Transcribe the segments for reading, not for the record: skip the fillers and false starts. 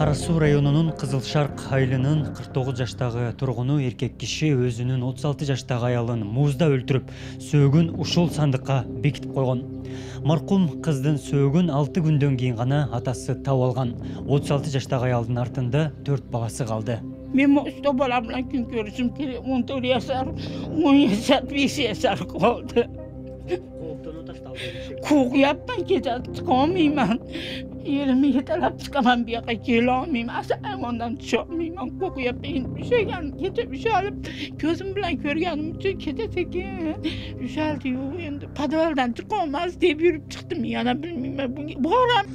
Кара Суу районунун Кызыл Шарк айылынын 49 жаштагы тургуну эркек киши өзүнүн 36 жаштагы аялын музда өлтүрүп, сөөгүн ушул сандыкка бекитип койгон. Маркум кыздын сөөгүн 6 күндөн кийин гана атасы таап алган. 36 жаштагы аялдын артында 4 баласы калды. Мен ошто бала менен күн көрүшүм керек. 14 жашар, 10 жашар, 5 жашар калды. Кууяптан кете чыкалмайман. Элиме жетелеп чыкаман бияка келе алмаймын. Асаймандан түшө алмаймын. Кууяптан üşөгөн, кете üşөлүп, көзүм менен көргөнүм үчүн кетет экен. Üşөлдү yok эndi подвалдан чыкалмас деп жүрүп чыктым. Яна билмейм. Барам.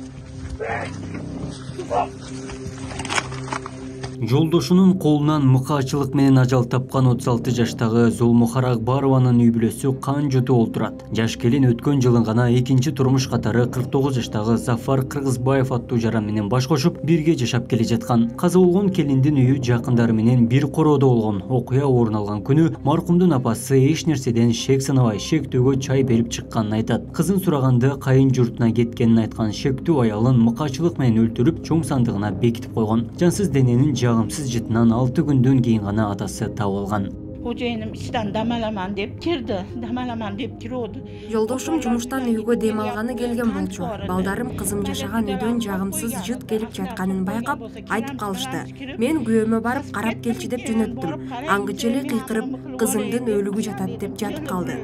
Жолдошунун колунан мыкаачылык менен ажал тапкан 36 жаштагы Зулмухара Акбарованын үй бүлөсү кан жутуп олтурат. Жаш келин өткөн жылы гана экинчи турмуш катары 49 жаштагы Зафар Кыргызбаев аттуу жаран менен баш кошуп бирге жашап келе жаткан. Каза болгон келиндин үйү жакындары менен бир короодо болгон. Окуя орун алган күнү маркумдун апасы эч нерседен шек санабай шектүүгө чай берип чыкканын айтат. Кызын сураганда кайын журтуна кеткенин айткан шектүү аялын мыкаачылык менен өлтүрүп, чоң сандыгына бекитип койгон. Жансыз дененин жагымсыз жытынан 6 күндөн кийин гана атасы таап алган. Кожоюнум иштен дамаламан деп кирди. Дамаламан деп кирди. Жолдошум жумуштан үйгө дем алганы келген болчу. Балдарым кызым жашаган үйдөн жагымсыз жыт келип жатканын байкап, айтып калышты. Мен күйөөмө барып карап келчи деп жөнөттүм. Аңгыча эле кыйкырып, кызымдын өлүгү жатат деп жатып калды.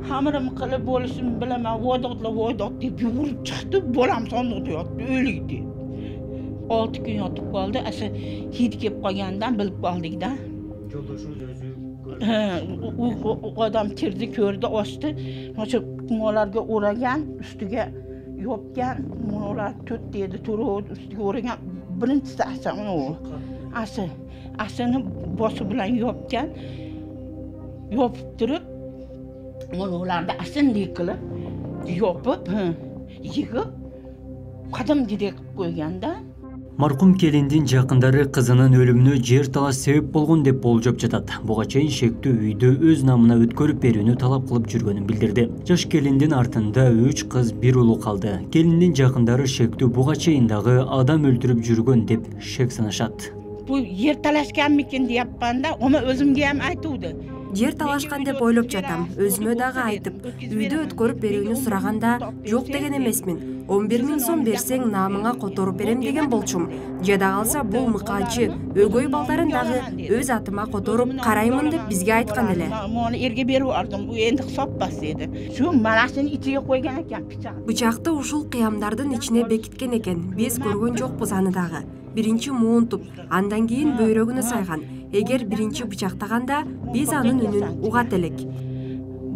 Хамырым кылып болушун билемин, водок деп жүгүрүп чыкты. Болам сондукта жатты, өлүгү. 6 gün yatıp kaldı. Asa hid kep koyandan bilip kaldık da. Joldoşunuz özü o adam kirdi, kördü, açtı. Nasıl kumalarga uğragan, üstüge yopgan, kumalar tut dedi, turu üstüge uğragan. Birincisi Asa o. Asa'nın bosu bilen yopgan. Yopup durup, kumalarda Asa'nın yıkılıp, yopup, yıkıp, kadın direk koyganda. Маркум келиндин жакындары кызынын өлүмүнө жер талаш себеп болгон деп болжоп жатат. Буга чейин шектүү үйдү өз намына өткөрүп берүүнү талап кылып жүргөнүн билдирди. Жаш келиндин артында 3 кыз, 1 улуу калды. Келиндин жакындары шектүү буга чейин дагы адам өлтүрүп жүргөн деп шек санашат. Бу жер талашкан мекен деп атканда, ома өзүмгө ham айтууду. Жер талашкан деп ойлоп жатам. Өзүмө дагы айтып, үйдү өткөрүп берүүнү сураганда, жок деген эмесмин. 11 000 сом берсең намыңа которуп берем деген болчум. Жада калса бул мыкаачы өгөй балдарын дагы өз атыма которуп караймын деп бизге айткан эле. Муну эрге берип алдым. Бу энди соппас эди. Şu манашын ичиге койгон экен бычак. Бычакты ушул кыямдардын ичине бекиткен экен. Биз көргөн жокпуз аны дагы. Биринчи муунтуп, андан кийин бөйрөгүнө сайган. Эгер биринчи бычактаганда биз анын үнүн угат элек.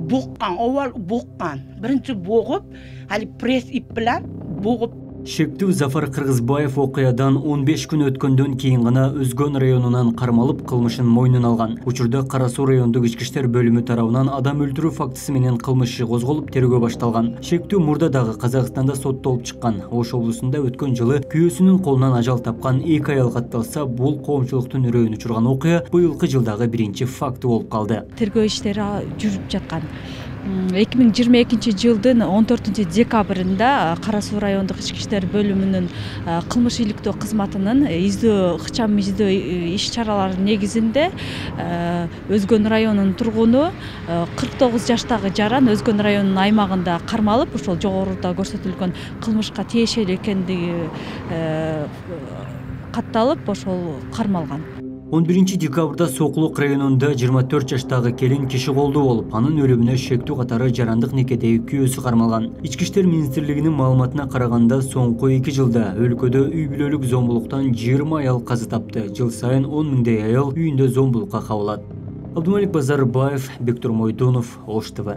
Буккан, овал буккан. Биринчи богуп, али пресс ип менен богуп. Шектүү Зафар Кыргызбаев окуядан 15 күн өткөндөн кийин гана Өзгөн районунан кармалып кылмышын мойнуна алган. Учурда Кара Суу райондук ички иштер бөлүмү тарабынан адам өлтүрүү фактысы менен кылмыш иши козголуп, тергөө башталган. Шектүү мурда дагы Казакстанда соттолуп чыккан. Ош облусунда өткөн жылы күйөөсүнүн колунан ажал тапкан 2 аял катталса, бул коомчулуктун үрөйүн учурган окуя быйылкы жылдагы биринчи факты болуп калды. Тергөө иштери жүрүп жаткан. 2022 жылдын 14 декабрында Кара Суу райондук ички иштер бөлүмүнүн кылмыш иликтөө кызматынын ыкчам издөө иш чаралары негизинде Өзгөн районунун тургуну 49 жаштагы жаран Өзгөн районунун аймагында кармалып, ошол жогоруда көрсөтүлгөн кылмышка тиешелүү экендиги катталып, ошол кармалган. 11 декабрда Сокулук районунда 24 жаштагы келин киши колдуу болуп, анын өлүмүнө шектүү катары жарандык некедеги күйөөсү кармалган. Ички иштер министрлигинин маалыматына караганда, соңку 2 жылда өлкөдө үй бүлөлүк зомбулуктан 20 аял каза тапты. Жыл сайын 10 миңдей аял үйүндө зомбулукка кабылат. Абдумалик Базарбаев, Бектур Мойдонов, Ош ТВ.